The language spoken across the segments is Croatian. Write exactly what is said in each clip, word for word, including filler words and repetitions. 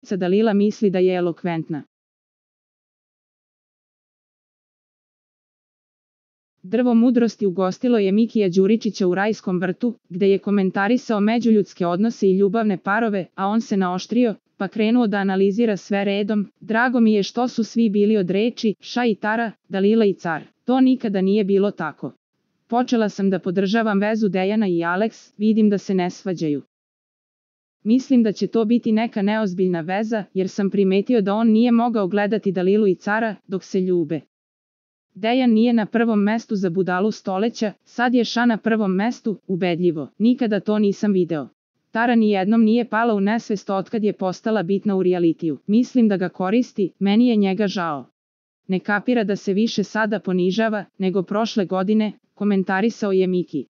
Dalila misli da je elokventna. Drvo mudrosti ugostilo je Mikija Đuričića u rajskom vrtu, gde je komentarisao međuljudske odnose i ljubavne parove, a on se naoštrio, pa krenuo da analizira sve redom. Drago mi je što su svi bili od reči, ša i tara, Dalila i car. To nikada nije bilo tako. Počela sam da podržavam vezu Dejana i Aleks, vidim da se ne svađaju. Mislim da će to biti neka neozbiljna veza, jer sam primetio da on nije mogao gledati Dalilu i cara, dok se ljube. Dejan nije na prvom mestu za budalu stoleća, sad je ša na prvom mestu, ubedljivo, nikada to nisam video. Tara nijednom nije pala u nesvest otkad je postala bitna u realitiju, mislim da ga koristi, meni je njega žao. Ne kapira da se više sada ponižava, nego prošle godine, komentarisao je Miki.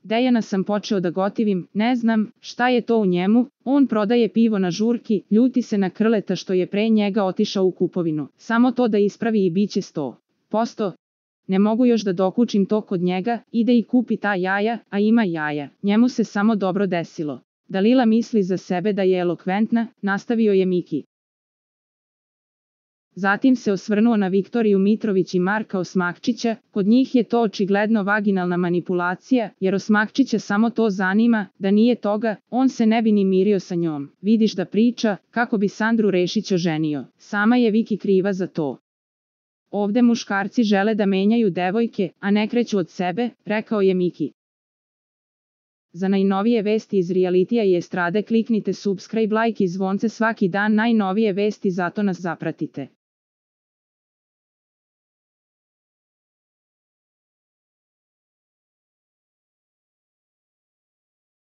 Dejana sam počeo da gotivim, ne znam šta je to u njemu, on prodaje pivo na žurki, ljuti se na Krleta što je pre njega otišao u kupovinu, samo to da ispravi i biće sto posto. Ne mogu još da dokučim to kod njega, ide i kupi ta jaja, a ima jaja, njemu se samo dobro desilo. Dalila misli za sebe da je elokventna, nastavio je Miki. Zatim se osvrnuo na Viktoriju Mitrović i Marka Osmakčića, kod njih je to očigledno vaginalna manipulacija, jer Osmakčića samo to zanima, da nije toga, on se ne bi ni mirio sa njom. Vidiš da priča, kako bi Sandru Rešić oženio, sama je Viki kriva za to. Ovde muškarci žele da menjaju devojke, a ne kreću od sebe, rekao je Miki. Za najnovije vesti iz realitija i estrade kliknite subscribe, like i zvonce svaki dan, najnovije vesti, zato nas zapratite.